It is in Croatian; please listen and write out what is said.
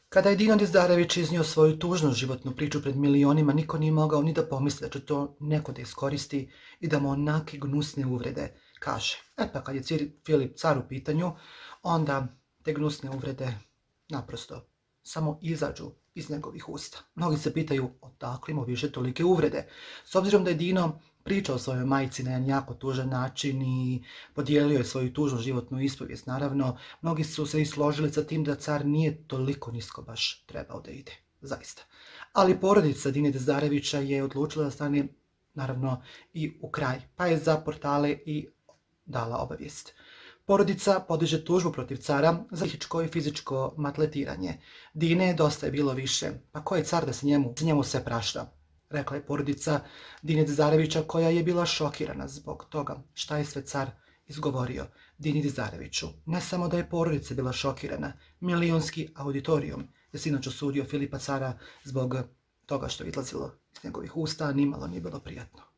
Kada je Dino Dizdarević iznio svoju tužnu životnu priču pred milionima, niko nije mogao ni da pomisli da će to neko da iskoristi i da mu onake gnusne uvrede kaže. Pa kad je Filip car u pitanju, onda te gnusne uvrede naprosto samo izađu iz njegovih usta. Mnogi se pitaju odakle mu više tolike uvrede. S obzirom da je Dino pričao o svojoj majci na jedan jako tužan način i podijelio je svoju tužnu životnu ispovijest, naravno, mnogi su se i složili sa tim da car nije toliko nisko baš trebao da ide, zaista. Ali porodica Dine Dizdarevića je odlučila da stane, naravno, i u kraj, pa je za portale i dala obavijest. Porodica podiže tužbu protiv cara za psihičko i fizičko maltretiranje. Dine dosta je bilo više, pa ko je car da se njemu sve prašta? Rekla je porodica Dine Dizdarevića, koja je bila šokirana zbog toga šta je sve car izgovorio Dini Dizdareviću. Ne samo da je porodica bila šokirana, milionski auditorijum je sinoć osudio Filipa cara zbog toga što je izlazilo iz njegovih usta, a nimalo nije bilo prijatno.